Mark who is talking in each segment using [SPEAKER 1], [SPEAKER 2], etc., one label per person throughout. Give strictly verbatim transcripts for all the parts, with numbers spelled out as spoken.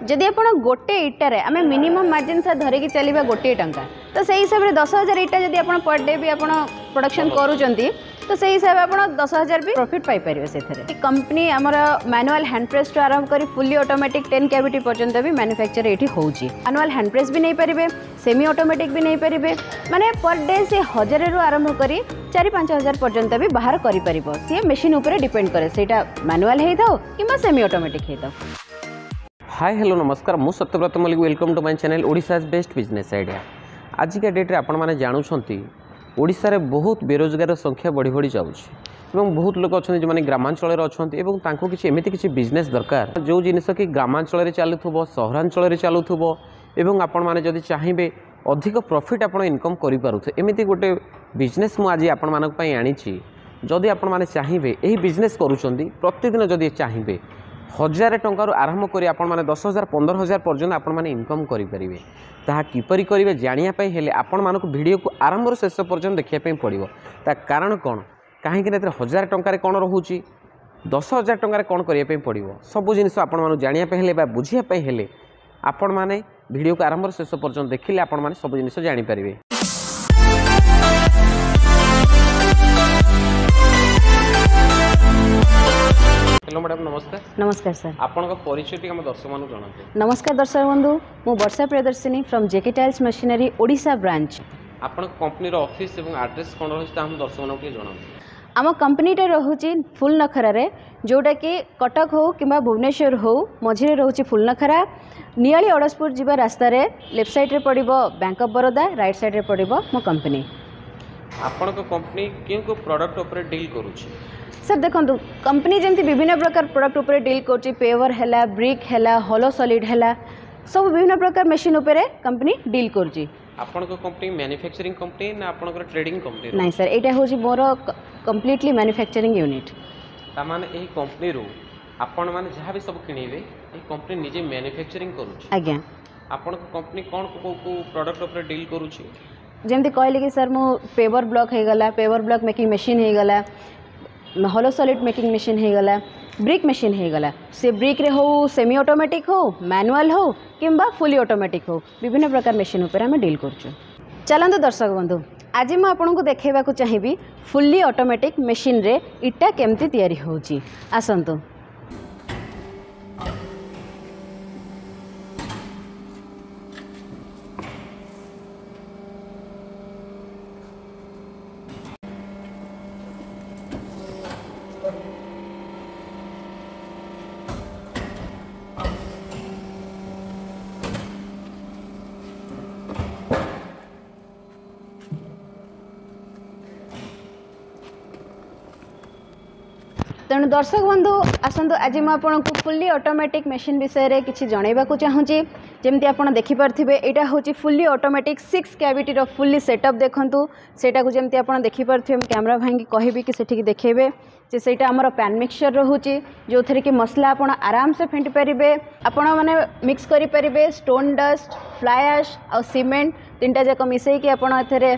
[SPEAKER 1] ଯଦି ଆପଣ ଗୋଟେ ଇଟାରେ ଆମେ ମିନିମମ୍ ମାର୍ଜିନ୍ ସାର୍ ଧରିକି ଚାଲିବା ଗୋଟିଏ ଟଙ୍କା ତ ସେଇ ହିସାବରେ ଦଶ ହଜାର ଇଟା ଯଦି ଆପଣ ପର୍ ଡେ ବି ଆପଣ ପ୍ରଡକ୍ସନ୍ କରୁଛନ୍ତି ତ ସେଇ ହିସାବରେ ଆପଣ ଦଶ ହଜାର ବି ପ୍ରଫିଟ୍ ପାଇପାରିବେ ସେଥିରେ କମ୍ପାନୀ ଆମର ମ୍ୟାନୁଆଲ୍ ହ୍ୟାଣ୍ଡ ପ୍ରେସ୍ଠୁ ଆରମ୍ଭ କରି ଫୁଲି ଅଟୋମେଟିକ୍ ଟେନ୍ କ୍ୟାଭିଟି ପର୍ଯ୍ୟନ୍ତ ବି ମ୍ୟାନୁଫ୍ୟାକ୍ଚର ଏଇଠି ହେଉଛି ମ୍ୟାନୁଆଲ୍ ହ୍ୟାଣ୍ଡ ପ୍ରେସ୍ ବି ନେଇପାରିବେ ସେମି ଅଟୋମେଟିକ୍ ବି ନେଇପାରିବେ ମାନେ ପର୍ ଡେ ସେ ହଜାରରୁ ଆରମ୍ଭ କରି ଚାରି ପାଞ୍ଚ ହଜାର ପର୍ଯ୍ୟନ୍ତ ବି ବାହାର କରିପାରିବ ସିଏ ମେସିନ୍ ଉପରେ ଡିପେଣ୍ଡ କରେ ସେଇଟା ମ୍ୟାନୁଆଲ୍ ହେଇଥାଉ କିମ୍ବା ସେମି ଅଟୋମେଟିକ୍ ହେଇଥାଉ
[SPEAKER 2] ହାଇ ହ୍ୟାଲୋ ନମସ୍କାର ମୁଁ Satyabrata Mallick welcome to my channel Odisha's best business idea ଆଜିକା ଡେଟ୍ରେ ଆପଣମାନେ ଜାଣୁଛନ୍ତି ଓଡ଼ିଶାରେ ବହୁତ ବେରୋଜଗାର ସଂଖ୍ୟା ବଢ଼ି ବଢ଼ି ଯାଉଛି ଏବଂ ବହୁତ ଲୋକ ଅଛନ୍ତି ଯେଉଁମାନେ ଗ୍ରାମାଞ୍ଚଳରେ ଅଛନ୍ତି ଏବଂ ତାଙ୍କୁ କିଛି ଏମିତି କିଛି ବିଜନେସ୍ ଦରକାର ଯେଉଁ ଜିନିଷ କି ଗ୍ରାମାଞ୍ଚଳରେ ଚାଲୁଥିବ ସହରାଞ୍ଚଳରେ ଚାଲୁଥିବ ଏବଂ ଆପଣମାନେ ଯଦି ଚାହିଁବେ ଅଧିକ ପ୍ରଫିଟ୍ ଆପଣ ଇନକମ୍ କରିପାରୁଥିବେ ଏମିତି ଗୋଟେ ବିଜନେସ୍ ମୁଁ ଆଜି ଆପଣମାନଙ୍କ ପାଇଁ ଆଣିଛି ଯଦି ଆପଣମାନେ ଚାହିଁବେ ଏହି ବିଜନେସ୍ କରୁଛନ୍ତି ପ୍ରତିଦିନ ଯଦି ଚାହିଁବେ ହଜାରେ ଟଙ୍କାରୁ ଆରମ୍ଭ କରି ଆପଣମାନେ ଦଶ ହଜାର ପନ୍ଦର ହଜାର ପର୍ଯ୍ୟନ୍ତ ଆପଣମାନେ ଇନକମ୍ କରିପାରିବେ ତାହା କିପରି କରିବେ ଜାଣିବା ପାଇଁ ହେଲେ ଆପଣମାନଙ୍କୁ ଭିଡ଼ିଓକୁ ଆରମ୍ଭରୁ ଶେଷ ପର୍ଯ୍ୟନ୍ତ ଦେଖିବା ପାଇଁ ପଡ଼ିବ ତା କାରଣ କ'ଣ କାହିଁକି ନା ଏଥିରେ ହଜାର ଟଙ୍କାରେ କ'ଣ ରହୁଛି ଦଶ ହଜାର ଟଙ୍କାରେ କ'ଣ କରିବା ପାଇଁ ପଡ଼ିବ ସବୁ ଜିନିଷ ଆପଣମାନଙ୍କୁ ଜାଣିବା ପାଇଁ ହେଲେ ବା ବୁଝିବା ପାଇଁ ହେଲେ ଆପଣମାନେ ଭିଡ଼ିଓକୁ ଆରମ୍ଭରୁ ଶେଷ ପର୍ଯ୍ୟନ୍ତ ଦେଖିଲେ ଆପଣମାନେ ସବୁ ଜିନିଷ ଜାଣିପାରିବେ ହ୍ୟାଲୋ ମ୍ୟାଡ଼ାମ୍ ନମସ୍କାର
[SPEAKER 1] ନମସ୍କାର ସାର୍
[SPEAKER 2] ଆପଣଙ୍କ ପରିଚୟ ଟିକେ ଆମ ଦର୍ଶକମାନଙ୍କୁ ଜଣାନ୍ତୁ
[SPEAKER 1] ନମସ୍କାର ଦର୍ଶକ ବନ୍ଧୁ ମୁଁ ବର୍ଷା Priyadarshini from JK tiles machinery Odisha branch
[SPEAKER 2] ଆପଣଙ୍କ କମ୍ପାନୀର ଅଫିସ୍ ଏବଂ ଆଡ୍ରେସ୍ କ'ଣ ରହିଛି ତାହା ଆମ ଦର୍ଶକମାନଙ୍କୁ ଟିକେ ଜଣାନ୍ତୁ
[SPEAKER 1] ଆମ କମ୍ପାନୀଟା ରହୁଛି ଫୁଲନଖରାରେ ଯେଉଁଟାକି କଟକ ହେଉ କିମ୍ବା ଭୁବନେଶ୍ୱର ହେଉ ମଝିରେ ରହୁଛି ଫୁଲନଖରା ନିଆଳି ଅଡ଼ଶପୁର ଯିବା ରାସ୍ତାରେ ଲେଫ୍ଟ ସାଇଡ଼୍ରେ ପଡ଼ିବ ବ୍ୟାଙ୍କ ଅଫ୍ ବରୋଦା ରାଇଟ୍ ସାଇଡ଼୍ରେ ପଡ଼ିବ ମୋ କମ୍ପାନୀ
[SPEAKER 2] ଆପଣଙ୍କ କମ୍ପାନୀ କେଉଁ କେଉଁ ପ୍ରଡ଼କ୍ଟ ଉପରେ ଡିଲ୍ କରୁଛି
[SPEAKER 1] ସାର୍ ଦେଖନ୍ତୁ କମ୍ପାନୀ ଯେମିତି ବିଭିନ୍ନ ପ୍ରକାର ପ୍ରଡ଼କ୍ଟ ଉପରେ ଡିଲ୍ କରୁଛି ପେଭର ହେଲା ବ୍ରିକ୍ ହେଲା ହଲୋ ସଲିଡ୍ ହେଲା ସବୁ ବିଭିନ୍ନ ପ୍ରକାର ମେସିନ୍ ଉପରେ କମ୍ପାନୀ ଡିଲ୍ କରୁଛି
[SPEAKER 2] ଆପଣଙ୍କ କମ୍ପାନୀ ମ୍ୟାନୁଫ୍ୟାକ୍ଚରିଂ କମ୍ପାନୀ ନା ଆପଣଙ୍କର ଟ୍ରେଡିଂ କମ୍ପାନୀ
[SPEAKER 1] ନାଇଁ ସାର୍ ଏଇଟା ହେଉଛି ମୋର କମ୍ପ୍ଲିଟଲି ମ୍ୟାନୁଫ୍ୟାକ୍ଚରିଂ ୟୁନିଟ୍
[SPEAKER 2] ତାମାନେ ଏହି କମ୍ପାନୀରୁ ଆପଣମାନେ ଯାହା ବି ସବୁ କିଣିବେ ଏହି କମ୍ପାନୀ ନିଜେ ମ୍ୟାନୁଫ୍ୟାକ୍ଚରିଂ କରୁଛି
[SPEAKER 1] ଆଜ୍ଞା
[SPEAKER 2] ଆପଣଙ୍କ କମ୍ପାନୀ କ'ଣ କେଉଁ କେଉଁ ପ୍ରଡ଼କ୍ଟ ଉପରେ ଡିଲ୍ କରୁଛି
[SPEAKER 1] ଯେମିତି କହିଲି କି ସାର୍ ମୁଁ ପେଭର ବ୍ଲକ୍ ହେଇଗଲା ପେଭର ବ୍ଲକ୍ ମେକିଂ ମେସିନ୍ ହେଇଗଲା ହଲୋ ସଲିଡ୍ ମେକିଂ ମେସିନ୍ ହେଇଗଲା ବ୍ରିକ୍ ମେସିନ୍ ହେଇଗଲା ସେ ବ୍ରିକ୍ରେ ହଉ ସେମି ଅଟୋମେଟିକ୍ ହଉ ମ୍ୟାନୁଆଲ୍ ହଉ କିମ୍ବା ଫୁଲି ଅଟୋମେଟିକ୍ ହଉ ବିଭିନ୍ନ ପ୍ରକାର ମେସିନ୍ ଉପରେ ଆମେ ଡିଲ୍ କରୁଛୁ ଚାଲନ୍ତୁ ଦର୍ଶକ ବନ୍ଧୁ ଆଜି ମୁଁ ଆପଣଙ୍କୁ ଦେଖାଇବାକୁ ଚାହିଁବି ଫୁଲି ଅଟୋମେଟିକ୍ ମେସିନ୍ରେ ଇଟା କେମିତି ତିଆରି ହେଉଛି ଆସନ୍ତୁ ତେଣୁ ଦର୍ଶକ ବନ୍ଧୁ ଆସନ୍ତୁ ଆଜି ମୁଁ ଆପଣଙ୍କୁ ଫୁଲି ଅଟୋମେଟିକ୍ ମେସିନ୍ ବିଷୟରେ କିଛି ଜଣାଇବାକୁ ଚାହୁଁଛି ଯେମିତି ଆପଣ ଦେଖିପାରୁଥିବେ ଏଇଟା ହେଉଛି ଫୁଲି ଅଟୋମେଟିକ୍ ସିକ୍ସ କ୍ୟାଭିଟିର ଫୁଲି ସେଟଅପ୍ ଦେଖନ୍ତୁ ସେଇଟାକୁ ଯେମିତି ଆପଣ ଦେଖିପାରୁଥିବେ ମୁଁ କ୍ୟାମେରା ଭାଇକି କହିବି କି ସେଠିକି ଦେଖେଇବେ ଯେ ସେଇଟା ଆମର ପ୍ୟାନ୍ ମିକ୍ସଚର୍ ରହୁଛି ଯେଉଁଥିରେ କି ମସଲା ଆପଣ ଆରାମସେ ଫେଣ୍ଟି ପାରିବେ ଆପଣ ମାନେ ମିକ୍ସ କରିପାରିବେ ଷ୍ଟୋନ୍ ଡଷ୍ଟ ଫ୍ଲାଏ ଆଶ୍ ଆଉ ସିମେଣ୍ଟ ତିନିଟା ଯାକ ମିଶାଇକି ଆପଣ ଏଥିରେ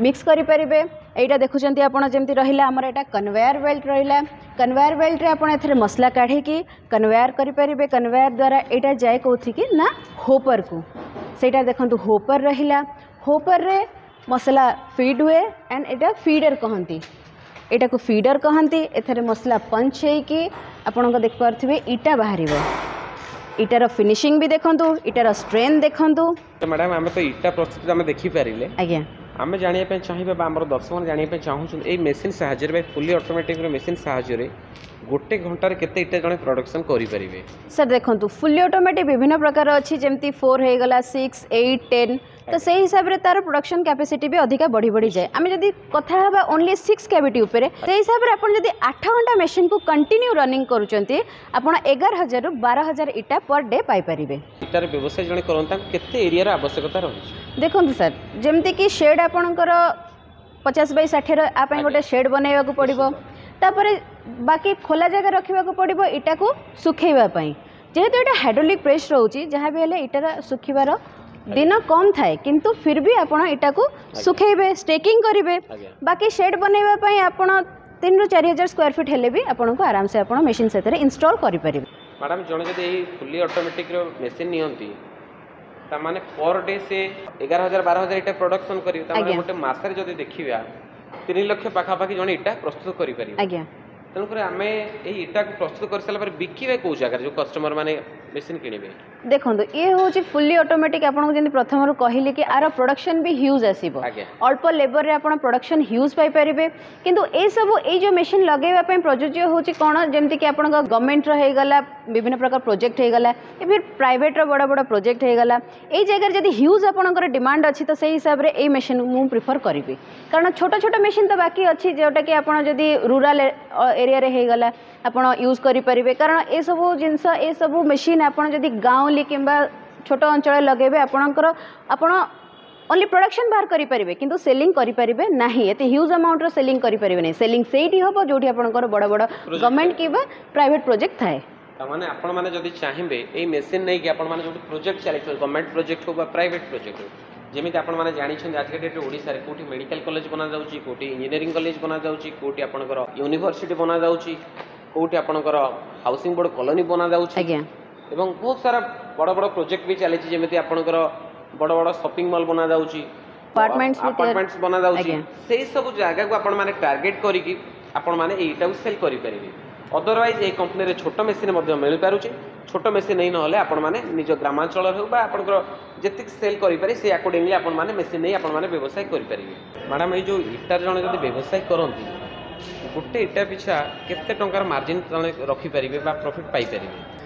[SPEAKER 1] ମିକ୍ସ କରିପାରିବେ ଏଇଟା ଦେଖୁଛନ୍ତି ଆପଣ ଯେମିତି ରହିଲା ଆମର ଏଇଟା କନଭେୟାର ବେଲ୍ଟ ରହିଲା କନଭେୟାର ବେଲ୍ଟରେ ଆପଣ ଏଥିରେ ମସଲା କାଢ଼ିକି କନଭେୟାର କରିପାରିବେ କନଭେୟାର ଦ୍ୱାରା ଏଇଟା ଯାଏ କେଉଁଠିକି ନା ହୋପରକୁ ସେଇଟା ଦେଖନ୍ତୁ ହୋପର ରହିଲା ହୋପରରେ ମସଲା ଫିଡ୍ ହୁଏ ଆଣ୍ଡ ଏଇଟା ଫିଡର କହନ୍ତି ଏଇଟାକୁ ଫିଡର କହନ୍ତି ଏଥିରେ ମସଲା ପଞ୍ଚ ହେଇକି ଆପଣଙ୍କ ଦେଖିପାରୁଥିବେ ଇଟା ବାହାରିବ ଇଟାର ଫିନିସିଂ ବି ଦେଖନ୍ତୁ ଇଟାର ଷ୍ଟ୍ରେନ୍ଥ ଦେଖନ୍ତୁ
[SPEAKER 2] ମ୍ୟାଡ଼ାମ୍ ଆମେ ତ ଇଟା ପ୍ରସ୍ତୁତି ଆମେ ଦେଖିପାରିଲେ
[SPEAKER 1] ଆଜ୍ଞା
[SPEAKER 2] ଆମେ ଜାଣିବା ପାଇଁ ଚାହିଁବା ବା ଆମର ଦର୍ଶକମାନେ ଜାଣିବା ପାଇଁ ଚାହୁଁଛନ୍ତି ଏଇ ମେସିନ୍ ସାହାଯ୍ୟରେ ବା ଫୁଲି ଅଟୋମେଟିକ୍ର ମେସିନ୍ ସାହାଯ୍ୟରେ ଗୋଟେ ଘଣ୍ଟାରେ କେତେ ଇଟା ଜଣେ ପ୍ରଡକ୍ସନ୍ କରିପାରିବେ
[SPEAKER 1] ସାର୍ ଦେଖନ୍ତୁ ଫୁଲି ଅଟୋମେଟିକ୍ ବିଭିନ୍ନ ପ୍ରକାର ଅଛି ଯେମିତି ଫୋର୍ ହେଇଗଲା ସିକ୍ସ ଏଇଟ୍ ଟେନ୍ ତ ସେଇ ହିସାବରେ ତାର ପ୍ରଡକ୍ସନ୍ କ୍ୟାପାସିଟି ବି ଅଧିକା ବଢ଼ି ବଢ଼ିଯାଏ ଆମେ ଯଦି କଥା ହେବା ଓନ୍ଲି ସିକ୍ସ କ୍ୟାଭିଟି ଉପରେ ସେଇ ହିସାବରେ ଆପଣ ଯଦି ଆଠ ଘଣ୍ଟା ମେସିନ୍କୁ କଣ୍ଟିନ୍ୟୁ ରନିଂ କରୁଛନ୍ତି ଆପଣ ଏଗାର ହଜାରରୁ ବାର ହଜାର ଇଟା ପର୍ ଡେ ପାଇପାରିବେ
[SPEAKER 2] ଇଟାର ବ୍ୟବସାୟ ଜଣେ କରନ୍ତି ତାଙ୍କୁ କେତେ ଏରିଆର ଆବଶ୍ୟକତା ରହିଛି
[SPEAKER 1] ଦେଖନ୍ତୁ ସାର୍ ଯେମିତିକି ସେଡ୍ ଆପଣଙ୍କର ପଚାଶ ବାଇ ଷାଠିଏର ଆ ପାଇଁ ଗୋଟେ ସେଡ୍ ବନେଇବାକୁ ପଡ଼ିବ ତାପରେ ବାକି ଖୋଲା ଜାଗା ରଖିବାକୁ ପଡ଼ିବ ଇଟାକୁ ଶୁଖେଇବା ପାଇଁ ଯେହେତୁ ଏଇଟା ହାଇଡ୍ରୋଲିକ୍ ପ୍ରେସ୍ ରହୁଛି ଯାହା ବି ହେଲେ ଇଟାର ଶୁଖିବାର ଦିନ କମ୍ ଥାଏ କିନ୍ତୁ ଫିର୍ ବି ଆପଣ ଇଟାକୁ ଶୁଖେଇବେ ଷ୍ଟେକିଂ କରିବେ
[SPEAKER 2] ଆଜ୍ଞା
[SPEAKER 1] ବାକି ସେଡ୍ ବନେଇବା ପାଇଁ ଆପଣ ତିନିରୁ ଚାରି ହଜାର ସ୍କୋୟାର ଫିଟ୍ ହେଲେ ବି ଆପଣଙ୍କୁ ଆରାମସେ ଆପଣ ମେସିନ୍ ସେଥିରେ ଇନଷ୍ଟଲ୍ କରିପାରିବେ
[SPEAKER 2] ମ୍ୟାଡ଼ାମ୍ ଜଣେ ଯଦି ଏଇ ଫୁଲି ଅଟୋମେଟିକ୍ର ମେସିନ୍ ନିଅନ୍ତି ତାମାନେ ପର୍ ଡେ ସେ ଏଗାର ହଜାର ବାର ହଜାର ଇଟା ପ୍ରଡକ୍ସନ୍ କରିବେ ତାମାନେ
[SPEAKER 1] ଆଜ୍ଞା।
[SPEAKER 2] ଗୋଟେ ମାସରେ ଯଦି ଦେଖିବା ତିନି ଲକ୍ଷ ପାଖାପାଖି ଜଣେ ଇଟା ପ୍ରସ୍ତୁତ କରିପାରିବେ
[SPEAKER 1] ଆଜ୍ଞା
[SPEAKER 2] ତେଣୁକରି ଆମେ ଏଇ ଇଟାକୁ ପ୍ରସ୍ତୁତ କରିସାରିଲା ପରେ ବିକିବେ କେଉଁ ଜାଗାରେ ଯେଉଁ କଷ୍ଟମର ମାନେ ମେସିନ୍ କିଣିବେ
[SPEAKER 1] ଦେଖନ୍ତୁ ଇଏ ହେଉଛି ଫୁଲି ଅଟୋମେଟିକ୍ ଆପଣଙ୍କୁ ଯେମିତି ପ୍ରଥମରୁ କହିଲି କି ଆର ପ୍ରଡକ୍ସନ୍ ବି ହ୍ୟୁଜ୍ ଆସିବ
[SPEAKER 2] ଆଜ୍ଞା।
[SPEAKER 1] ଅଳ୍ପ ଲେବରରେ ଆପଣ ପ୍ରଡକ୍ସନ୍ ହ୍ୟୁଜ୍ ପାଇପାରିବେ କିନ୍ତୁ ଏଇସବୁ ଏଇ ଯେଉଁ ମେସିନ୍ ଲଗାଇବା ପାଇଁ ପ୍ରଯୁଜ୍ୟ ହେଉଛି କ'ଣ ଯେମିତିକି ଆପଣଙ୍କ ଗଭର୍ଣ୍ଣମେଣ୍ଟର ହେଇଗଲା ବିଭିନ୍ନ ପ୍ରକାର ପ୍ରୋଜେକ୍ଟ ହେଇଗଲା ଏବେ ପ୍ରାଇଭେଟ୍ର ବଡ଼ ବଡ଼ ପ୍ରୋଜେକ୍ଟ ହେଇଗଲା ଏଇ ଜାଗାରେ ଯଦି ହ୍ୟୁଜ୍ ଆପଣଙ୍କର ଡିମାଣ୍ଡ ଅଛି ତ ସେଇ ହିସାବରେ ଏଇ ମେସିନ୍ ମୁଁ ପ୍ରିଫର୍ କରିବି କାରଣ ଛୋଟ ଛୋଟ ମେସିନ୍ ତ ବାକି ଅଛି ଯେଉଁଟାକି ଆପଣ ଯଦି ରୁରାଲ୍ ଏରିଆରେ ହେଇଗଲା ଆପଣ ୟୁଜ୍ କରିପାରିବେ କାରଣ ଏସବୁ ଜିନିଷ ଏସବୁ ମେସିନ୍ ଆପଣ ଯଦି ଗାଉଁଲି କିମ୍ବା ଛୋଟ ଅଞ୍ଚଳରେ ଲଗାଇବେ ଆପଣଙ୍କର ଆପଣ ଓନ୍ଲି ପ୍ରଡକ୍ସନ୍ ବାହାର କରିପାରିବେ କିନ୍ତୁ ସେଲିଂ କରିପାରିବେ ନାହିଁ ଏତେ ହ୍ୟୁଜ୍ ଆମାଉଣ୍ଟର ସେଲିଂ କରିପାରିବେ ନାହିଁ ସେଲିଂ ସେଇଠି ହେବ ଯେଉଁଠି ଆପଣଙ୍କର ବଡ଼ ବଡ଼ ଗଭର୍ଣ୍ଣମେଣ୍ଟ କିମ୍ବା ପ୍ରାଇଭେଟ୍ ପ୍ରୋଜେକ୍ଟ ଥାଏ
[SPEAKER 2] ତାମାନେ ଆପଣମାନେ ଯଦି ଚାହିଁବେ ଏଇ ମେସିନ୍ ନେଇକି ଆପଣମାନେ ଯେଉଁଠି ପ୍ରୋଜେକ୍ଟ ଚାଲିଥିବ ଗଭର୍ଣ୍ଣମେଣ୍ଟ ପ୍ରୋଜେକ୍ଟ ହଉ ବା ପ୍ରାଇଭେଟ୍ ପ୍ରୋଜେକ୍ଟ ହଉ ଯେମିତି ଆପଣମାନେ ଜାଣିଛନ୍ତି ଆଜିକା ଡେଟ୍ରେ ଓଡ଼ିଶାରେ କେଉଁଠି ମେଡ଼ିକାଲ କଲେଜ ବନାଯାଉଛି କେଉଁଠି ଇଞ୍ଜିନିୟରିଂ କଲେଜ ବନାଯାଉଛି କେଉଁଠି ଆପଣଙ୍କର ୟୁନିଭର୍ସିଟି ବନାଯାଉଛି କେଉଁଠି ଆପଣଙ୍କର ହାଉସିଂ ବୋର୍ଡ଼ କଲୋନୀ ବନାଯାଉଛି
[SPEAKER 1] ଆଜ୍ଞା
[SPEAKER 2] ଏବଂ ବହୁତ ସାରା ବଡ଼ ବଡ଼ ପ୍ରୋଜେକ୍ଟ ବି ଚାଲିଛି ଯେମିତି ଆପଣଙ୍କର ବଡ଼ ବଡ଼ ସପିଂ ମଲ୍ ବନାଯାଉଛି
[SPEAKER 1] Apartments ବି ତିଆରି-
[SPEAKER 2] ଆପାର୍ଟମେଣ୍ଟସ୍ ବନାଯାଉଛି
[SPEAKER 1] ଆଜ୍ଞା।
[SPEAKER 2] ସେଇ ସବୁ ଜାଗାକୁ ଆପଣମାନେ ଟାର୍ଗେଟ୍ କରିକି ଆପଣମାନେ ଏଇଟାକୁ ସେଲ୍ କରିପାରିବେ ଅଦରୱାଇଜ୍ ଏଇ କମ୍ପାନୀରେ ଛୋଟ ମେସିନ୍ ମଧ୍ୟ ମିଳିପାରୁଛି ଛୋଟ ମେସିନ୍ ନେଇ ନହେଲେ ଆପଣମାନେ ନିଜ ଗ୍ରାମାଞ୍ଚଳରେ ହେଉ ବା ଆପଣଙ୍କର ଯେତିକି ସେଲ୍ କରିପାରିବେ ସେଇ ଆକର୍ଡ଼ିଂଲି ଆପଣମାନେ ମେସିନ୍ ନେଇ ଆପଣମାନେ ବ୍ୟବସାୟ କରିପାରିବେ ମ୍ୟାଡ଼ାମ୍ ଏଇ ଯେଉଁ ଇଟାରେ ଜଣେ ଯଦି ବ୍ୟବସାୟ କରନ୍ତି ଗୋଟେ ଇଟା ପିଛା କେତେ ଟଙ୍କାର ମାର୍ଜିନ୍ ଜଣେ ରଖିପାରିବେ ବା ପ୍ରଫିଟ୍ ପାଇପାରିବେ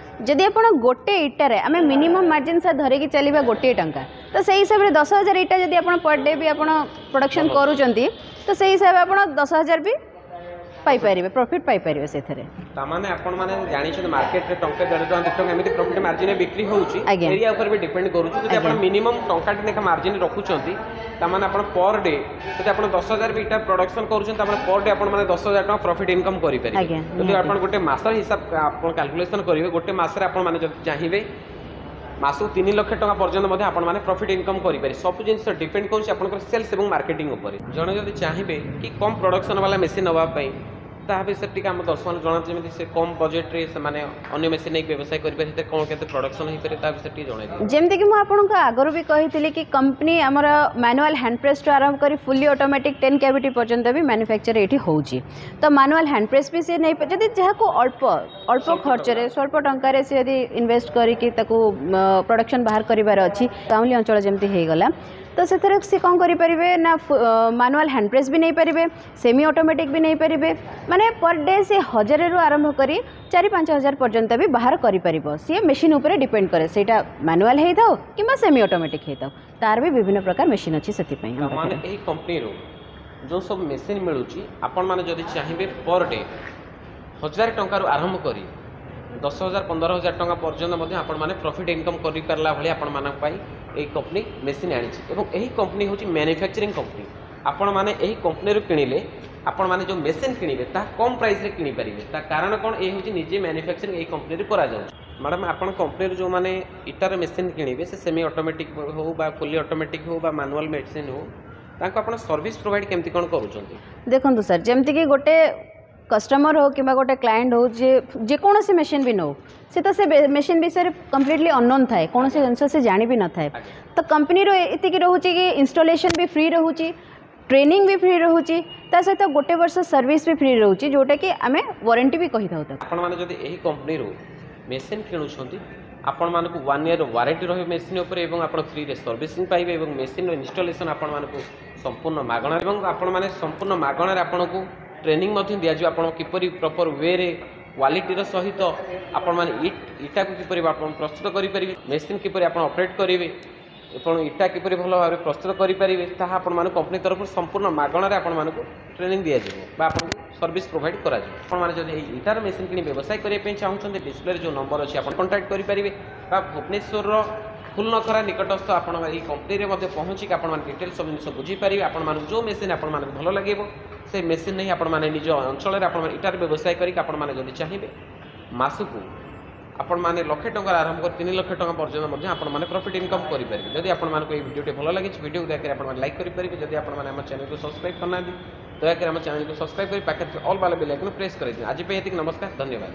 [SPEAKER 1] ଯଦି ଆପଣ ଗୋଟେ ଇଟାରେ ଆମେ ମିନିମମ୍ ମାର୍ଜିନ୍ ସାର୍ ଧରିକି ଚାଲିବା ଗୋଟିଏ ଟଙ୍କା ତ ସେଇ ହିସାବରେ ଦଶ ହଜାର ଇଟା ଯଦି ଆପଣ ପର୍ ଡେ ବି ଆପଣ ପ୍ରଡକ୍ସନ୍ କରୁଛନ୍ତି ତ ସେଇ ହିସାବରେ ଆପଣ ଦଶ ହଜାର ବି ପାଇପାରିବେ ପ୍ରଫିଟ୍ ପାଇପାରିବେ ସେଥିରେ
[SPEAKER 2] ତାମାନେ ଆପଣମାନେ ଜାଣିଛନ୍ତି ମାର୍କେଟରେ ଟଙ୍କା ଦେଢ଼ ଟଙ୍କା ଦୁଇ ଟଙ୍କା ଏମିତି ପ୍ରଫିଟ୍ ମାର୍ଜିନରେ ବିକ୍ରି ହେଉଛି
[SPEAKER 1] ଆଜ୍ଞା।
[SPEAKER 2] ଏରିଆ ଉପରେ ବି ଡିପେଣ୍ଡ କରୁଛି ଯଦି ଆପଣ
[SPEAKER 1] ଆଜ୍ଞା।
[SPEAKER 2] ମିନିମମ୍ ଟଙ୍କାଟେ ଲେଖା ମାର୍ଜିନ୍ ରଖୁଛନ୍ତି ତାମାନେ ଆପଣ ପର୍ ଡେ ଯଦି ଆପଣ ଦଶ ହଜାର ବି ଇଟା ପ୍ରଡକ୍ସନ୍ କରୁଛନ୍ତି ତାମାନେ ପର୍ ଡେ ଆପଣ ମାନେ ଦଶ ହଜାର ଟଙ୍କା ପ୍ରଫିଟ୍ ଇନକମ୍ କରିପାରିବେ
[SPEAKER 1] ଆଜ୍ଞା,
[SPEAKER 2] ଯଦି
[SPEAKER 1] ନିହାତି।
[SPEAKER 2] ଆପଣ ଗୋଟେ ମାସର ହିସାବ ଆପଣ କାଲକୁଲେସନ୍ କରିବେ ଗୋଟେ ମାସରେ ଆପଣ ମାନେ ଯଦି ଚାହିଁବେ ମାସକୁ ତିନି ଲକ୍ଷ ଟଙ୍କା ପର୍ଯ୍ୟନ୍ତ ମଧ୍ୟ ଆପଣମାନେ ପ୍ରଫିଟ୍ ଇନକମ୍ କରିପାରିବେ ସବୁ ଜିନିଷ ଡିପେଣ୍ଡ କରୁଛି ଆପଣଙ୍କର ସେଲ୍ସ ଏବଂ ମାର୍କେଟିଂ ଉପରେ ଜଣେ ଯଦି ଚାହିଁବେ କି କମ୍ ପ୍ରଡକ୍ସନ୍ ବାଲା ମେସିନ୍ ନେବା ପାଇଁ ତାହା ବିଷୟରେ ଟିକେ ଆମ ଦର୍ଶକମାନଙ୍କୁ ଜଣାନ୍ତୁ ଯେମିତି ସେ କମ୍ ବଜେଟ୍ରେ ସେମାନେ ଅନ୍ୟ ମେସିନ୍ ନେଇକି ବ୍ୟବସାୟ କରିପାରିବେ ସେଥିରେ କ'ଣ କେତେ ପ୍ରଡକ୍ସନ୍ ହେଇପାରିବ ତା ବିଷୟରେ ଟିକେ ଜଣାଇ ଦିଅନ୍ତୁ
[SPEAKER 1] ଯେମିତିକି ମୁଁ ଆପଣଙ୍କୁ ଆଗରୁ ବି କହିଥିଲି କି କମ୍ପାନୀ ଆମର ମାନୁଆଲ୍ ହ୍ୟାଣ୍ଡ ପ୍ରେସ୍ଠୁ ଆରମ୍ଭ କରି ଫୁଲି ଅଟୋମେଟିକ୍ ଟେନ୍ କ୍ୟାଭିଟି ପର୍ଯ୍ୟନ୍ତ ବି ମ୍ୟାନୁଫ୍ୟାକ୍ଚର ଏଇଠି ହେଉଛି ତ ମାନୁଆଲ୍ ହ୍ୟାଣ୍ଡ ପ୍ରେସ୍ ବି ସେ ନେଇ ଯଦି ଯାହାକୁ ଅଳ୍ପ ଅଳ୍ପ
[SPEAKER 2] ସ୍ୱଳ୍ପ
[SPEAKER 1] ଖର୍ଚ୍ଚରେ ସ୍ୱଳ୍ପ ଟଙ୍କାରେ ସେ ଯଦି ଇନଭେଷ୍ଟ କରିକି ତାକୁ ପ୍ରଡକ୍ସନ୍ ବାହାର କରିବାର ଅଛି ଗାଉଁଲି ଅଞ୍ଚଳ ଯେମିତି ହେଇଗଲା ତ ସେଥିରେ ସେ କ'ଣ କରିପାରିବେ ନା ମାନୁଆଲ୍ ହ୍ୟାଣ୍ଡ ପ୍ରେସ୍ ବି ନେଇପାରିବେ ସେମି ଅଟୋମେଟିକ୍ ବି ନେଇପାରିବେ ମାନେ ପର୍ ଡେ ସେ ହଜାରରୁ ଆରମ୍ଭ କରି ଚାରି ପାଞ୍ଚ ହଜାର ପର୍ଯ୍ୟନ୍ତ ବି ବାହାର କରିପାରିବ ସିଏ ମେସିନ୍ ଉପରେ ଡିପେଣ୍ଡ କରେ ସେଇଟା ମାନୁଆଲ୍ ହେଇଥାଉ କିମ୍ବା ସେମି ଅଟୋମେଟିକ୍ ହେଇଥାଉ ତାର ବି ବିଭିନ୍ନ ପ୍ରକାର ମେସିନ୍ ଅଛି ସେଥିପାଇଁ ଆମ
[SPEAKER 2] ତାମାନେ
[SPEAKER 1] ପାଖରେ
[SPEAKER 2] ଏହି କମ୍ପାନୀରୁ ଯେଉଁ ସବୁ ମେସିନ୍ ମିଳୁଛି ଆପଣମାନେ ଯଦି ଚାହିଁବେ ପର୍ ଡେ ହଜାରେ ଟଙ୍କାରୁ ଆରମ୍ଭ କରି ଦଶ ହଜାର ପନ୍ଦର ହଜାର ଟଙ୍କା ପର୍ଯ୍ୟନ୍ତ ମଧ୍ୟ ଆପଣମାନେ ପ୍ରଫିଟ୍ ଇନକମ୍ କରିପାରିଲା ଭଳି ଆପଣମାନଙ୍କ ପାଇଁ ଏହି କମ୍ପାନୀ ମେସିନ୍ ଆଣିଛି ଏବଂ ଏହି କମ୍ପାନୀ ହେଉଛି ମ୍ୟାନୁଫ୍ୟାକ୍ଚରିଂ କମ୍ପାନୀ ଆପଣମାନେ ଏହି କମ୍ପାନୀରୁ କିଣିଲେ ଆପଣମାନେ ଯେଉଁ ମେସିନ୍ କିଣିବେ ତାହା କମ୍ ପ୍ରାଇସ୍ରେ କିଣିପାରିବେ ତା କାରଣ କ'ଣ ଏ ହେଉଛି ନିଜେ ମ୍ୟାନୁଫ୍ୟାକ୍ଚରିଂ ଏହି କମ୍ପାନୀରୁ କରାଯାଉଛି ମ୍ୟାଡ଼ାମ୍ ଆପଣ କମ୍ପାନୀରୁ ଯେଉଁମାନେ ଇଟାର ମେସିନ୍ କିଣିବେ ସେ ସେମି ଅଟୋମେଟିକ୍ ହେଉ ବା ଫୁଲି ଅଟୋମେଟିକ୍ ହେଉ ବା ମାନୁଆଲ୍ ମେସିନ୍ ହେଉ ତାଙ୍କୁ ଆପଣ ସର୍ଭିସ୍ ପ୍ରୋଭାଇଡ଼ କେମିତି କ'ଣ କରୁଛନ୍ତି
[SPEAKER 1] ଦେଖନ୍ତୁ ସାର୍ ଯେମିତିକି ଗୋଟେ କଷ୍ଟମର ହଉ କିମ୍ବା ଗୋଟେ କ୍ଲାଏଣ୍ଟ ହଉ ଯେ ଯେକୌଣସି ମେସିନ୍ ବି ନେଉ ସେ ତ ସେ ମେସିନ୍ ବିଷୟରେ କମ୍ପ୍ଲିଟଲି ଅନନୋନ୍ ଥାଏ କୌଣସି ଜିନିଷ ସେ ଜାଣି ବି ନଥାଏ
[SPEAKER 2] ଆଜ୍ଞା।
[SPEAKER 1] ତ କମ୍ପାନୀର ଏତିକି ରହୁଛି କି ଇନଷ୍ଟଲେସନ୍ ବି ଫ୍ରି ରହୁଛି ଟ୍ରେନିଂ ବି ଫ୍ରି ରହୁଛି ତା ସହିତ ଗୋଟେ ବର୍ଷ ସର୍ଭିସ୍ ବି ଫ୍ରି ରହୁଛି ଯେଉଁଟାକି ଆମେ ୱାରେଣ୍ଟି ବି କହିଥାଉ ତାକୁ
[SPEAKER 2] ଆପଣମାନେ ଯଦି ଏହି କମ୍ପାନୀରୁ ମେସିନ୍ କିଣୁଛନ୍ତି ଆପଣମାନଙ୍କୁ ୱାନ୍ ଇୟର୍ ୱାରେଣ୍ଟି ରହିବ ମେସିନ୍ ଉପରେ ଏବଂ ଆପଣ ଫ୍ରିରେ ସର୍ଭିସିଂ ପାଇବେ ଏବଂ ମେସିନ୍ର ଇନଷ୍ଟଲେସନ୍ ଆପଣମାନଙ୍କୁ ସମ୍ପୂର୍ଣ୍ଣ ମାଗଣା ଏବଂ ଆପଣମାନେ ସମ୍ପୂର୍ଣ୍ଣ ମାଗଣାରେ ଆପଣଙ୍କୁ ଟ୍ରେନିଂ ମଧ୍ୟ ଦିଆଯିବ ଆପଣ କିପରି ପ୍ରପର୍ ୱେରେ କ୍ୱାଲିଟିର ସହିତ ଆପଣମାନେ ଇଟ୍ ଇଟାକୁ କିପରି ଆପଣ ପ୍ରସ୍ତୁତ କରିପାରିବେ ମେସିନ୍ କିପରି ଆପଣ ଅପରେଟ୍ କରିବେ ଏବଂ ଇଟା କିପରି ଭଲ ଭାବରେ ପ୍ରସ୍ତୁତ କରିପାରିବେ ତାହା ଆପଣମାନଙ୍କୁ କମ୍ପାନୀ ତରଫରୁ ସମ୍ପୂର୍ଣ୍ଣ ମାଗଣାରେ ଆପଣମାନଙ୍କୁ ଟ୍ରେନିଂ ଦିଆଯିବ ବା ଆପଣଙ୍କୁ ସର୍ଭିସ୍ ପ୍ରୋଭାଇଡ଼ କରାଯିବ ଆପଣମାନେ ଯଦି ଏହି ଇଟାର ମେସିନ୍ କିଣି ବ୍ୟବସାୟ କରିବା ପାଇଁ ଚାହୁଁଛନ୍ତି ଡିସପ୍ଲେରେ ଯେଉଁ ନମ୍ବର ଅଛି ଆପଣ କଣ୍ଟାକ୍ଟ କରିପାରିବେ ବା ଭୁବନେଶ୍ୱରର ଫୁଲନଖରା ନିକଟସ୍ଥ ଆପଣ ଏହି କମ୍ପାନୀରେ ମଧ୍ୟ ପହଞ୍ଚିକି ଆପଣମାନେ ଡିଟେଲ୍ ସବୁ ଜିନିଷ ବୁଝିପାରିବେ ଆପଣମାନଙ୍କୁ ଯେଉଁ ମେସିନ୍ ଆପଣମାନଙ୍କୁ ଭଲ ଲାଗିବ ସେ ମେସିନ୍ ନେଇ ଆପଣମାନେ ନିଜ ଅଞ୍ଚଳରେ ଆପଣମାନେ ଇଟାର ବ୍ୟବସାୟ କରିକି ଆପଣମାନେ ଯଦି ଚାହିଁବେ ମାସକୁ ଆପଣମାନେ ଲକ୍ଷେ ଟଙ୍କାରୁ ଆରମ୍ଭ କରି ତିନି ଲକ୍ଷ ଟଙ୍କା ପର୍ଯ୍ୟନ୍ତ ମଧ୍ୟ ଆପଣମାନେ ପ୍ରଫିଟ୍ ଇନକମ୍ କରିପାରିବେ ଯଦି ଆପଣମାନଙ୍କୁ ଏହି ଭିଡ଼ିଓଟି ଭଲ ଲାଗିଛି ଭିଡ଼ିଓକୁ ଦୟାକରି ଆପଣମାନେ ଲାଇକ୍ କରିପାରିବେ ଯଦି ଆପଣମାନେ ଆମ ଚ୍ୟାନେଲକୁ ସବସ୍କ୍ରାଇବ୍ କରିନାହାନ୍ତି ଦୟାକରି ଆମ ଚ୍ୟାନେଲକୁ ସବସ୍କ୍ରାଇବ୍ କରି ପାଖରେ ଅଲ୍ ବାଲା ବେଲ୍ ଆଇକନ୍ ପ୍ରେସ୍ କରିଦିଅନ୍ତୁ ଆଜି ପାଇଁ ଏତିକି ନମସ୍କାର ଧନ୍ୟବାଦ